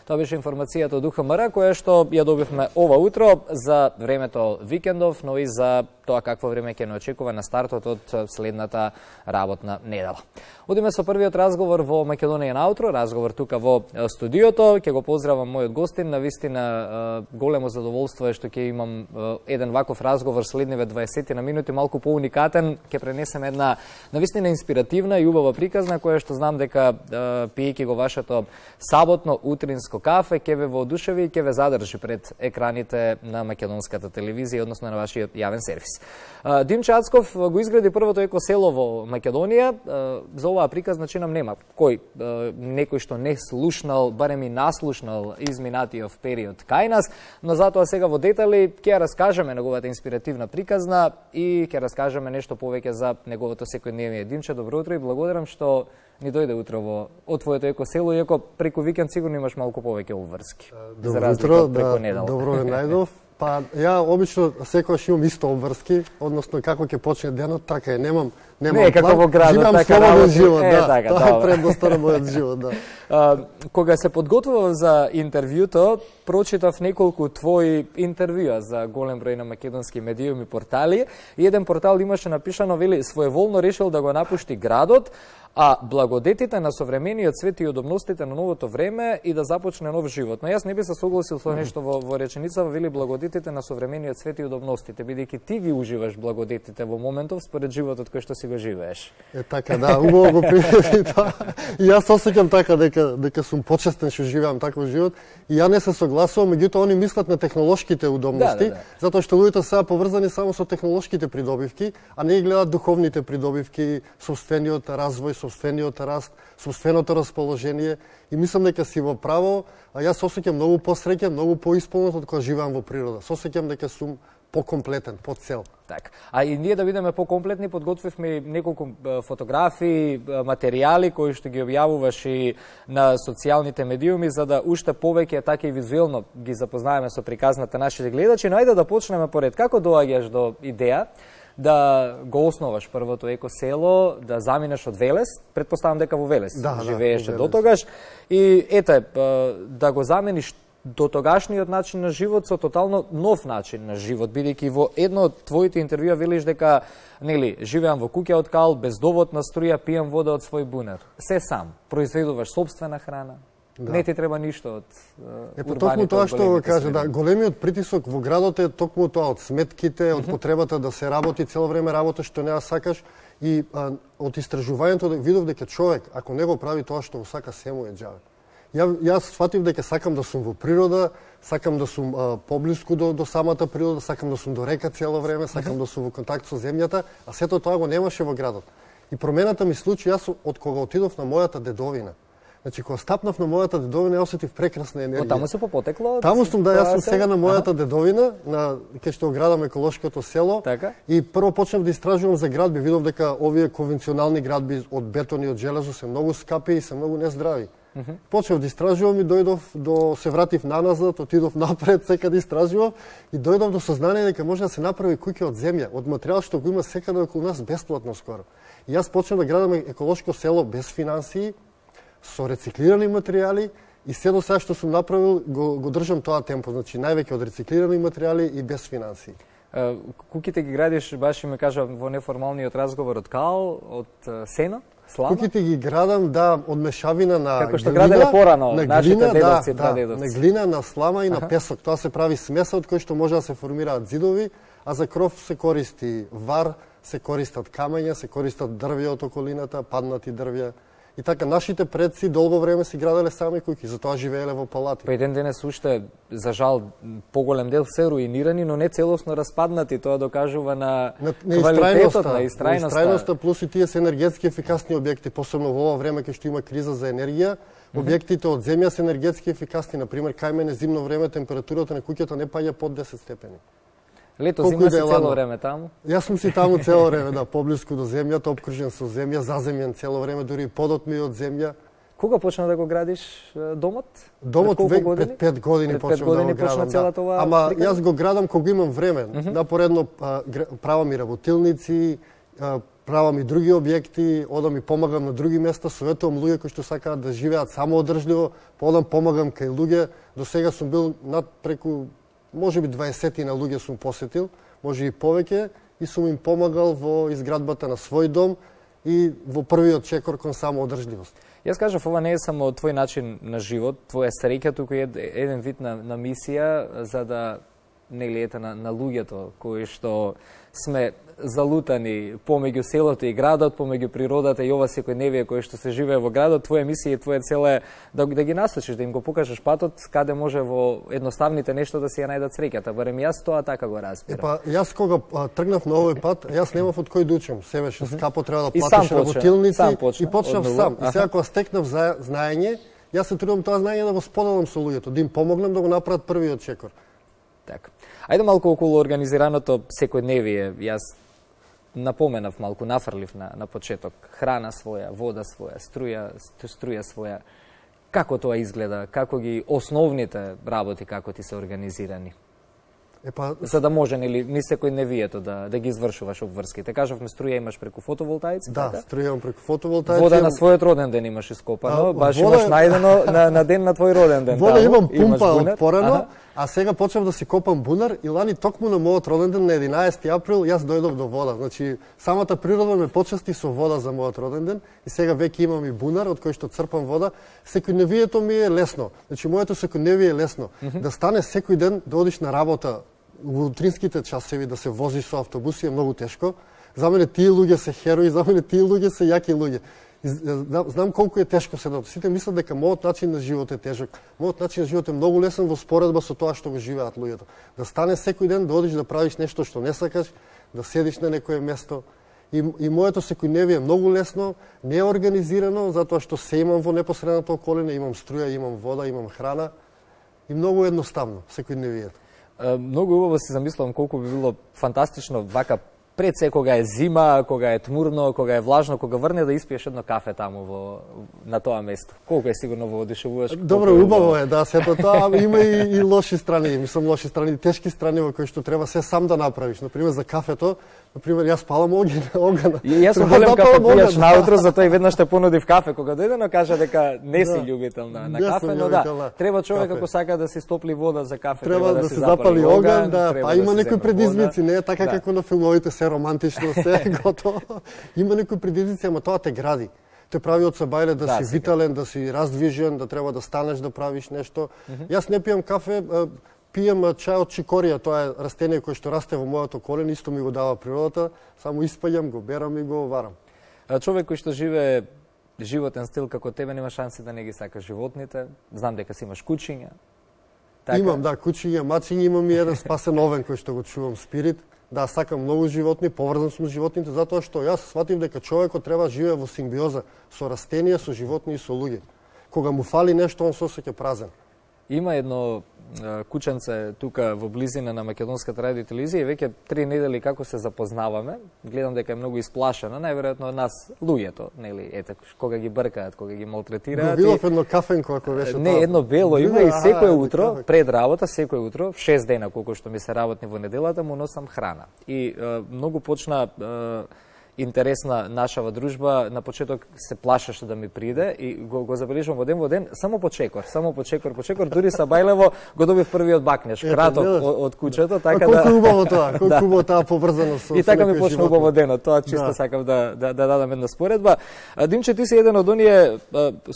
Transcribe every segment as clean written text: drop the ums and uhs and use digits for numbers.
Тоа беше информацијата од УХМР, која што ја добивме ова утро за времето викендов, но и за тоа какво време ќе не очекува на стартот од следната работна недела. Одиме со првиот разговор во Македонија наутро, разговор тука во студиото. Ќе го поздравам мојот гостин, на вистина големо задоволство е што ќе имам еден ваков разговор следниве 20 на минути, малку поуникатен. Ќе пренесем една навистина инспиративна и убава приказна, која што знам дека пиејќи го вашето саботно утринско кафе ќе ве воодушеви и ќе ве задржи пред екраните на македонската телевизија, односно на вашиот јавен сервис. Димче Ацков го изгради првото екосело во Македонија. За оваа приказна чинам нема кој некој што не слушнал, барем и наслушнал изминатиот период кај нас, но затоа сега во детали ќе раскажеме неговата инспиративна приказна и ќе раскажеме нешто повеќе за неговото секојдневие. Димче, добро утро и благодарам што ни дојде утрово од твоето екосело, иако преку викенд сигурно имаш малку повеќе обврски. Добро утро, добро ве најдов. Па ја обично секогаш имам исто обврски, односно како ќе почне денот, така е, немам не, како во градот, живеам така слободен живот, да. Така, тоа е предноста на мојот живот, да. Кога се подготвував за интервјуто, прочитав неколку твои интервјуа за голем број на македонски медиуми и портали, и еден портал имаше напишано, вели, своеволно решил да го напушти градот, а благодетите на современиот свет и удобностите на новото време и да започне нов живот. Но јас не би се согласил со нешто во реченицава, вели благодетите на современиот свет и удобностите, бидејќи ти ги уживаш благодетите во моментов според животот кој што си го живееш. Така, да, убаво го примети тоа. И јас осеќам така дека сум почестен што живеам таков живот. И ја не се согласувам, меѓутоа они мислат на технолошките удобности, затоа што луѓето сега поврзани само со технолошките придобивки, а не гледат духовните придобивки, собствениот развој, собствениот раст, собственото расположение, и мислам дека си во право, а јас осеќам многу посреќен, многу поисполнет од кога живеам во природа. Осеќам дека сум покомплетен, по цел. Так. А и ние да бидеме покомплетни, подготвивме неколку фотографии, материјали кои што ги објавуваш и на социјалните медиуми, за да уште повеќе така и визуелно ги запознаеме со приказната нашите гледачи. Но ајде да почнеме поред. Како доаѓаш до идеја да го основаш првото екосело, да заминеш од Велес, предпоставам дека во Велес живееше до тогаш, и ете, да го замениш до тогашниот начин на живот со тотално нов начин на живот, бидејќи во едно од твоите интервјуа велиш дека, нели, живеам во куќа од кал, без доводна струја, пијам вода од свој бунар. Се сам, произведуваш сопствена храна. Да. Не ти треба ништо од урбаните. Токму тоа што го кажа, да, големиот притисок во градот е токму тоа од сметките, од потребата да се работи цело време работа што не ја сакаш, и од истражувањето видов дека човек, ако не го прави тоа што го сака, се му е џаве. Јас сфатив дека сакам да сум во природа, сакам да сум поблиску до самата природа, сакам да сум до река цело време, сакам да сум во контакт со земјата, а сето тоа го немаше во градот. И промената ми случи јас од кога отидов на мојата дедовина. Значи, кога стапнав на мојата дедовина, ја осетив прекрасна енергија. Таму се попотекло? Таму сум, да, јас сум сега на мојата дедовина, кај што градам еколошкото село. Така? И прво почнав да истражувам за градби, видов дека овие конвенционални градби од бетон и од железо се многу скапи и се многу нездрави. Почнав да истражувам и дојдов се вратив наназад, отидов напред, секаде истражував и дојдов до сознание дека може да се направи куќа од земја, од материјал што го има секаде околу нас бесплатно скоро. И јас почнав да градам еколошко село без финансии, со рециклирани материјали, и се до сега што сум направил го држам тоа темпо, значи највеќе од рециклирани материјали и без финансии. Куќите ги градиш, баш ми кажа во неформалниот разговор, од кал, од сено? Слама? Куќите ги градам, да, од мешавина на како што граделе порано нашите дедовци, прадедовци. На глина, на слама и на песок. Тоа се прави смеса од кој што може да се формираат зидови, а за кров се користи вар, се користат камења, се користат дрвја од околината, паднати дрвја. И така, нашите предци долго време си граделе сами куќи, затоа живееле во палати. Па еден денес уште, за жал, поголем дел се руинирани, но не целосно распаднати. Тоа докажува на квалитетот, на истрајноста. Плюс и тие се енергетски ефикасни објекти, посебно во ова време кога што има криза за енергија. Објектите од земја се енергетски ефикасни. Например, кај мене зимно време температурата на куќата не паѓа под 10 степени. Лето зима си цело време таму? Јас сум си таму цело време, да, поблиску до земјата, обкружен со земја, заземјен цело време, дури и подот ми од земја. Кога почна да го градиш домот? Домот пред 5 години почнав да го градам, да. Ама јас го градам кога имам време. Напоредно правам и работилници, правам и други објекти, одам и помагам на други места, советувам луѓе кои што сакаат да живеат самоодржливо, одам помагам кај луѓе. До сега сум бил над преку можеби 20 на луѓе сум посетил, може и повеќе, и сум им помагал во изградбата на свој дом и во првиот чекор кон самоодржливост. Јас кажав, ова не е само твој начин на живот, твоја среќа, туку е еден вид на мисија за да нели ете на луѓето кои што сме залутани помеѓу селото и градот, помеѓу природата и ова секојдневие кој што се живее во градот. Твоја мисија и твоја цел е да ги насочиш, да им го покажеш патот каде може во едноставните нешто да си ја најдат среќата. Барем јас тоа така го разбирам. Епа, јас кога тргнав на овој пат, јас немав од кој да учам. Се беше скапо, треба да платиш работилници и почнав сам. И сега кога стекнав знаење, јас се трудам тоа знаење да го споделам со луѓето, да им помогнам да го направат првиот чекор. Така. Ајде малку околу организираното секојдневие. Јас напоменав малку, нафрлив на почеток. Храна своја, вода своја, струја своја. Како тоа изгледа? Како ги основните работи како ти се организирани? Епа, за да може нели ни секојдневието да ги извршуваш обврските. Кажавме струја имаш преку фотоволтаици, да, така? Струја имам преку фотоволтаици. Вода на својот роден ден имаш ископано, баш имаш најдено на ден на твој роден ден. Вода имам пумпа од порано, а сега почнав да си копам бунар и лани токму на мојот роден ден на 11 април јас дојдов до вода. Значи самата природа ме почасти со вода за мојот роден ден и сега веќе имам и бунар од кој што црпам вода. Секојдневието ми е лесно. Значи моето секојдневие е лесно. Да стане секој ден да одиш на работа во утринските часови, да се возиш со автобуси е многу тешко. За мене тие луѓе се херои, за мене тие луѓе се јаки луѓе. Знам колку е тешко седот. Сите мислат дека мојот начин на живот е тежок. Мојот начин на живот е многу лесен во споредба со тоа што го живеат луѓето. Да стане секој ден да одиш да правиш нешто што не сакаш, да седиш на некое место. И моето секојдневие е многу лесно, не е организирано, затоа што се имам во непосредната околина, имам струја, имам вода, имам храна и многу едноставно секојдневието. Многу убаво си замислувам колку би било фантастично вака пред се кога е зима, кога е тмурно, кога е влажно, кога врне да испиеш едно кафе таму на тоа место. Колку е сигурно воодушевуваш? Добро, убаво е, да, сето тоа, ама има и лоши страни, мислам лоши страни, тешки страни во кои што треба се сам да направиш. Например за кафето, јас палам оган. И јас сум голем кафе пијач наутро, затоа и веднаш те понудив кафе кога дојде, но кажа дека не си љубител на кафе, но да, треба човек ако сака да си стопли вода за кафе, треба да се запали оган, да, па има некои предизвици, не е така како на филмовите, се романтично, се готово. Има некои предизвици, ама тоа те гради. Те прави од сабајле да си витален, да си раздвижен, да треба да станеш да правиш нешто. Јас не пијам кафе, пијам чај од чикорија, тоа е растение кое што расте во мојот околина, исто ми го дава природата, само испаѓам, го берам и го варам. Човек кој што живее животен стил како тебе нема шанси да не ги сака животните. Знам дека си имаш кучиња. Така? Имам, да, кучиња, мачиња, имам и еден спасен овен кој што го чувам, Спирит. Да, сакам многу животни, поврзан сум с животните, затоа што јас сватив дека човекот треба да живее во симбиоза со растенија, со животни и со луѓе. Кога му фали нешто, он се осеќа празен. Има едно кученце тука во близина на Македонската радио и телевизија и веќе 3 недели како се запознаваме, гледам дека е многу исплашена, најверојатно од нас луѓето, нели, ете, кога ги бркаат, кога ги малтретираат. Го видов едно кафенко ако беше тоа. Не, едно бело има и секој утро, пред работа, секој утро, 6 дена колку што ми се работни во неделата, му носам храна. И многу почна интересна нашава дружба. На почеток се плашеше да ми приде и го забележувам во ден, само по чекор, дури сабајлево го добив првиот бакнеш, краток од кучето, така да. Колку убаво тоа, колку убаво таа поврзано со. И така ми почна убаво денот, тоа чисто сакам да дадам една споредба. Димче, ти си еден од оние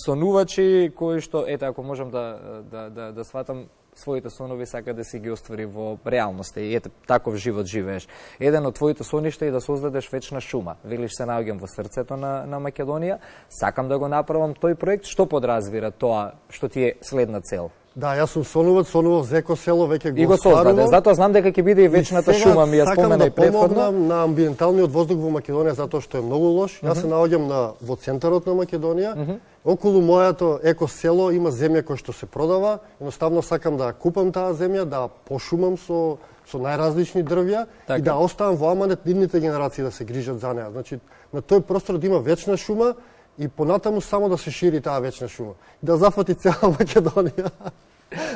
сонувачи кои што ете ако можам да сватам своите сонови сака да си ги оствари во реалноста и ете таков живот живееш. Еден од твоите соништа е да создадеш вечна шума. Велиш се наоѓам во срцето на Македонија, сакам да го направам тој проект. Што подразбира тоа што ти е следна цел? Да, јас сум сонував за екосело, веќе го стварувам. Затоа знам дека ќе биде и вечната шума, ми ја спомена и претходно. Сакам да помогнам на амбиенталниот воздух во Македонија затоа што е многу лош. Јас се наоѓам во центарот на Македонија. Околу моето екосело има земја која што се продава. Едноставно сакам да купам таа земја, да пошумам со најразлични дрвја и да оставам во аманет идните генерации да се грижат за неа. Значи, на тој простор да има вечна шума и понатаму само да се шири таа вечна шума. Да зафати цела Македонија.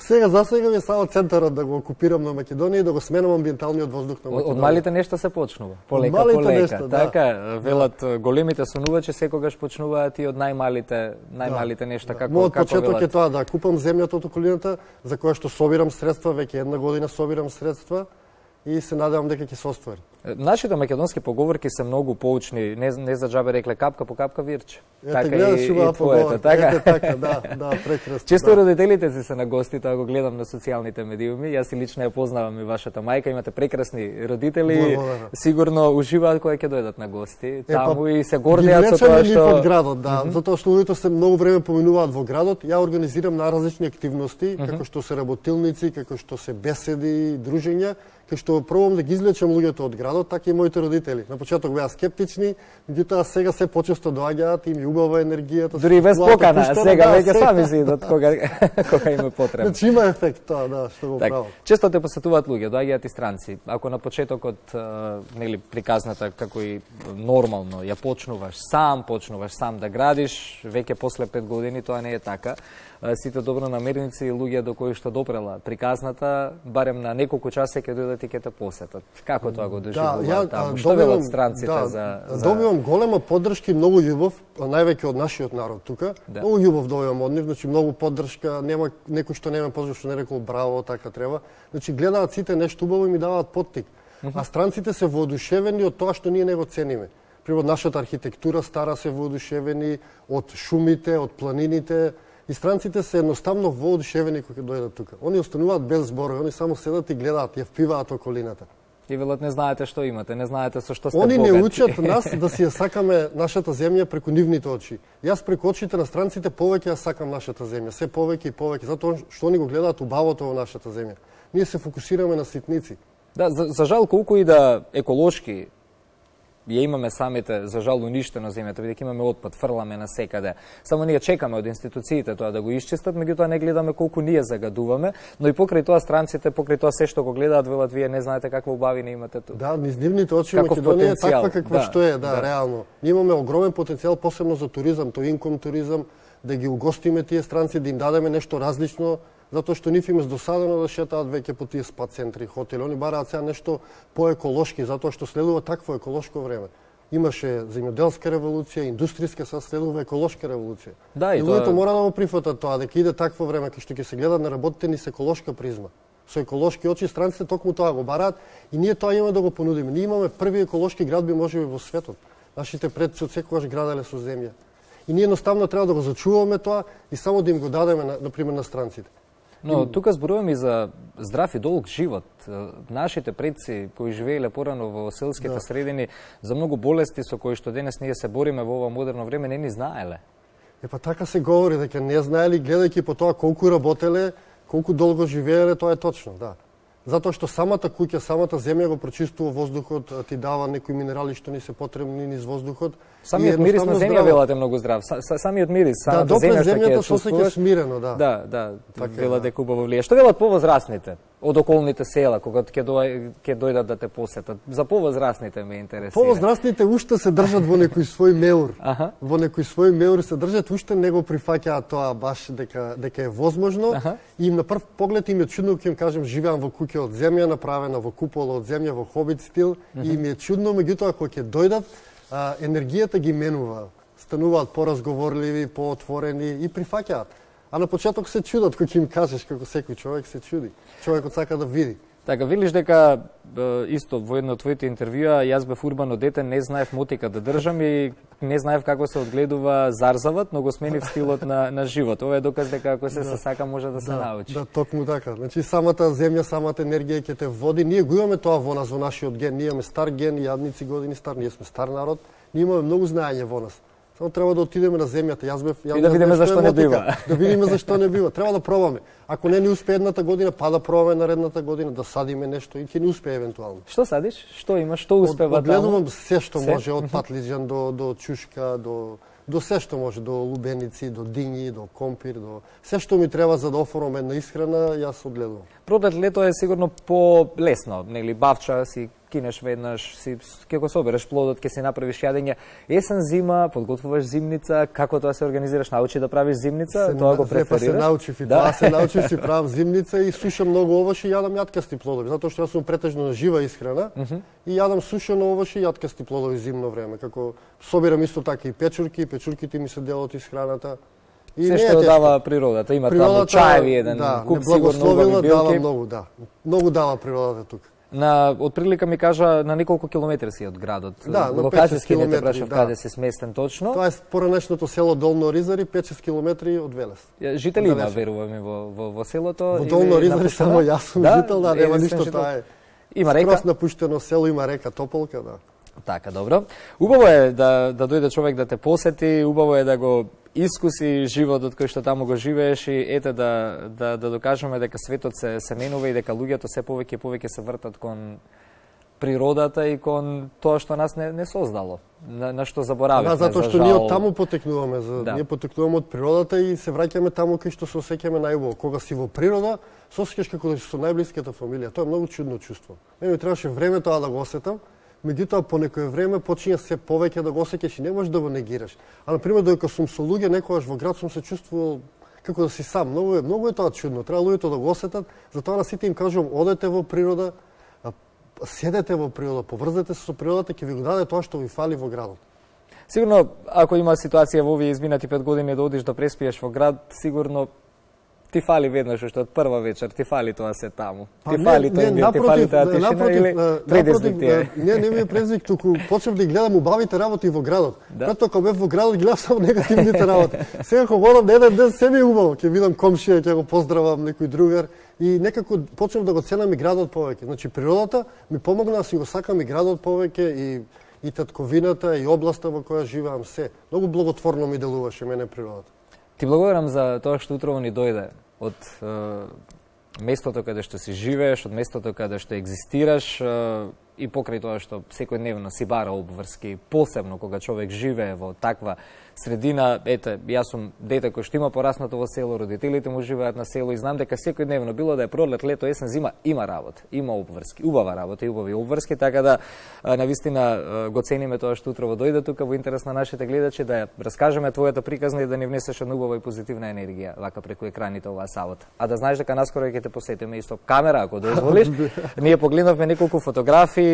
За сега ми е само центарот да го окупирам на Македонија и да го сменам амбиенталниот воздух на Македонија. Од малите нешта се почнува, полека. Така, велат големите сонувачи секогаш почнуваат и од најмалите нешта. Мојот почеток е тоа, да купам земјата од околината, за која што собирам средства, веќе една година собирам средства и се надевам дека ќе се оствари. Нашите македонски поговорки се многу поучни, не за џабе рекле капка по капка вирче. Така и твоето, така? Да, прекрасно. Често родителите си се на гости, тоа го гледам на социјалните медиуми. Јас и лично ја познавам и вашата мајка, имате прекрасни родители, сигурно уживаат кога ќе дојдат на гости. Таму и се гордеат со тоа што од градот, да, затоа што луѓето се многу време поминуваат во градот. Ја организирам на различни активности, како што се работилници, како што се беседи, дружења, кај што пробам да ги извлечам луѓето од градот, така и моите родители. На почеток беа скептични, меѓутоа сега се почесто доаѓаат, им убава енергијата. Дури без покана, сега веќе сами си идат кога им е потребно. Значи има ефект тоа, да, што го правам. Често те посетуваат луѓе, доаѓаат и странци. Ако на почетокот нели приказната како и нормално ја почнуваш сам да градиш, веќе после 5 години тоа не е така. Сите добронамерници и луѓе до кои што допрела приказната, барем на неколку часа ќе дојдат и ќе те посетат. Како тоа го доживуваат таму? Што велат странците за Добивам голема поддршка и многу љубов, највеќе од нашиот народ тука. Многу љубов добивам од нив, значи многу поддршка, нема некој што нема поздрав што не рекол браво, така треба. Значи гледаат сите нешто убаво и ми даваат поттик. А странците се воодушевени од тоа што ние не го цениме. Пример, нашата архитектура стара се воодушевени од шумите, од планините. И странците се едноставно воодушевени кога дојдат тука. Они остануваат без зборови, они само седат и гледаат, ја впиваат околината. И велат не знаете што имате, не знаете со што сте богати. Они не учат нас да си ја сакаме нашата земја преку нивните очи. Јас преку очите на странците повеќе ја сакам нашата земја, се повеќе и повеќе, затоа што они го гледаат убавото во нашата земја. Ние се фокусираме на ситници. Да, за жал колку и да еколошки ја имаме самите, за жал, уништено земјата, бидејќи имаме отпад, фрламе на секаде. Само ние чекаме од институциите тоа да го исчистат, меѓутоа не гледаме колку ние загадуваме, но и покрај тоа странците, покрај тоа се што го гледаат, велат вие не знаете каква убавина имате тука. Да, низ нивните очи Македонија е таква каква што е, да, реално. Ние имаме огромен потенцијал посебно за туризам, тој инком туризам, да ги угостиме тие странци, да им дадеме нешто различно, затоа што нив им е досадено да шетаат веќе по тие спа центри, хотели. Они бараат сега нешто поеколошки, затоа што следува такво еколошко време. Имаше земјоделска револуција, индустријска, сега следува еколошка револуција. Да, и луѓето мора да го прифатат тоа, дека иде такво време кај што ќе се гледат на работите ни со еколошка призма. Со еколошки очи странците токму тоа го бараат и ние тоа имаме да го понудиме. Ние имаме први еколошки градби можеби во светот. Нашите предци од секогаш граделе со земја. И ние едноставно треба да го зачуваме тоа и само да им го дадеме на пример на странците. Но тука зборуваме и за здрав и долг живот. Нашите предци кои живееле порано во селските средини за многу болести со кои што денес ние се бориме во ова модерно време не ни знаеле. Па така се говори дека не знаели гледајќи по тоа колку работеле, колку долго живееле, тоа е точно, да. Затоа што самата куќа, самата земја го прочистува воздухот, ти дава некои минерали што ни се потребни низ воздухот. Самиот мирис на земја велат е многу здрав. Самиот мирис, самата земја што ќе се осеќа смирено, да. Да, велат дека убаво влие. Што велат повозрасните од околните села кога ќе дојдат да те посетат? За повозрасните ме интересира. Повозрасните уште се држат во некој свој меур. Во некој свој меур се држат, уште не го прифаќаат тоа баш дека е возможно. И на прв поглед им е чудно кога им кажем живеам во куќа од земја, направена во купола од земја, во хобит стил, и им е чудно, меѓутоа кога ќе дојдат, енергијата ги менува. Стануваат поразговорливи, поотворени и прифаќаат. А на почеток се чудат кога ќе им кажеш, како секој човек се чуди. Човекот сака да види. Така, велиш дека исто во едно од твоите интервјуа, јас бев урбано дете, не знаев мотика да држам и не знаев како се одгледува зарзават, но го сменив стилот на живот. Ова е доказ дека ако се сака може да се научи. Да, токму така. Значи самата земја, самата енергија ќе те води. Ние го имаме тоа во нас, во нашиот ген. Ние имаме стар ген, јадници години стар, ние сме стар народ. Ние имаме многу знаење во нас. Само треба да отидеме на земјата. И да видиме зашто не бива. Да видиме зашто не бива. Треба да пробаме. Ако не ни успее едната година, па да пробаме наредната година, да садиме нешто и ќе ни успее евентуално. Што садиш? Што имаш? Што успева таму? Одгледувам се што може, од патлиџан до чушка, до се што може, до лубеници, до дињи, до компир, до се што ми треба за да оформам една исхрана, јас одгледувам. Продлет лето е сигурно полесно, нели бавча си кинеш веднаш, ќе го собереш плодот, ќе си направиш јадење. Есен, зима, подготвуваш зимница, како тоа се организираш? Научи да правиш зимница, тоа го преферираш? Се научив и тоа, се научив, си правам зимница и сушам многу овоши и јадам јаткасти плодови, затоа што јас сум претежно на жива исхрана и јадам сушено овоши и јаткасти плодови зимно време, како собирам исто така и печурки, печурките ми се дел од исхраната. Се што дава природата, има таму чаеви еден куп сигурно убави билки. Дава многу, да. Многу дава природата тука. На отприлика ми кажа на неколку километри си од градот. Да, на 5 километри. Не те прашав каде си сместен точно. Тоа е поранешното село Долно Ризари, 5-6 километри од Велес. Жители има, верувам, во селото. Во Долно Ризари само јас сум жител, да, нема ништо, тоа е. Има река. Скрос напуштено село, има река Тополка, да. Така, добро. Убаво е да дојде човек да те посети, убаво е да го искуси животот кој што таму го живееш и ете да докажеме дека светот се менува и дека луѓето се повеќе и повеќе се вртат кон природата и кон тоа што нас не создало, на што заборавивме. Да, затоа што ние од таму потекнуваме, ние потекнуваме од природата и се враќаме таму кај што се осеќаме најубаво. Кога си во природа, се осеќаш како да си со најблиската фамилија. Тоа е многу чудно чувство. Мене ми требаше време тоа да го осетам. Меѓутоа, по некое време почиња се повеќе да го осеќаш и не можеш да го негираш. А, например, додека сум со луѓе, некогаш во град сум се чувствувал како да си сам. Многу е тоа чудно. Треба луѓето да го осетат. Затоа на сите им кажувам, одете во природа, седете во природа, поврзете се со природата, ќе ви го даде тоа што ви фали во градот. Сигурно, ако има ситуација во овие изминати 5 години да одиш да преспиеш во град, сигурно ти фали веднаш уште од прва вечер, ти фали тоа се таму. Ти фали тоа мир, ти фали таа тишина или предизвик ти е? Не ми е предизвик, туку почнав да гледам убавите работи во градот. Прето кога бев во градот гледав само негативните работи. Сега кога одам на еден ден се ми е убаво, ќе видам комшија, ќе го поздравам некој другар и некако почнав да го ценам и градот повеќе. Значи природата ми помогна да си го сакам и градот повеќе и татковината и областа во која живеам се. Многу благотворно ми делуваше мене природата. Ти благодарам за тоа што утрово ни дојде од местото каде што си живееш, од местото каде што екзистираш и покрај тоа што секојдневно си бара обврски, посебно кога човек живее во таква средина. Ете, јас сум дете кој што има пораснато во село, родителите му живеат на село и знам дека секојдневно, било да е пролет, лето, есен, зима, има работа, има обврски, убава работа и убави обврски, така да навистина го цениме тоа што утрово дојде тука во интерес на нашите гледачи, да ја раскажеме твојата приказна и да ни внесеш една убава и позитивна енергија вака преку екраните оваа сабота. А да знаеш дека наскоро ќе те посетиме исто камера, ако дозволиш. Ние погледнавме неколку фотографии,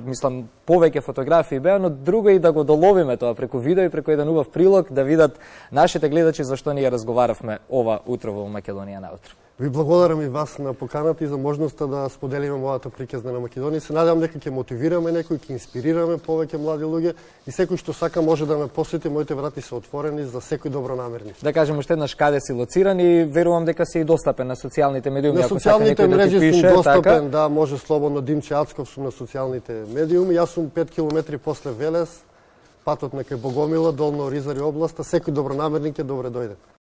мислам повеќе фотографии беа, но друго и да го доловиме тоа преку видео и преку еден убав прилог да видат нашите гледачи зашто ние разговаравме ова утро во Македонија наутро. Ви благодарам и вас на поканата и за можноста да споделиме мојата приказна на Македонија. Се надевам дека ќе мотивираме некој, ќе инспирираме повеќе млади луѓе и секој што сака може да ме посети, моите врати се отворени за секој добронамерни. Да кажем уште еднаш каде си лоциран и верувам дека си и достапен на социјалните медиуми. На социјалните мрежи сум достапен, да, може слободно. Димче Ацков сум на социјалните медиуми. Јас сум 5 километри после Велес, патот на кај Богомила, Долно Ризари областа. Секој добронамерник е добре дојде.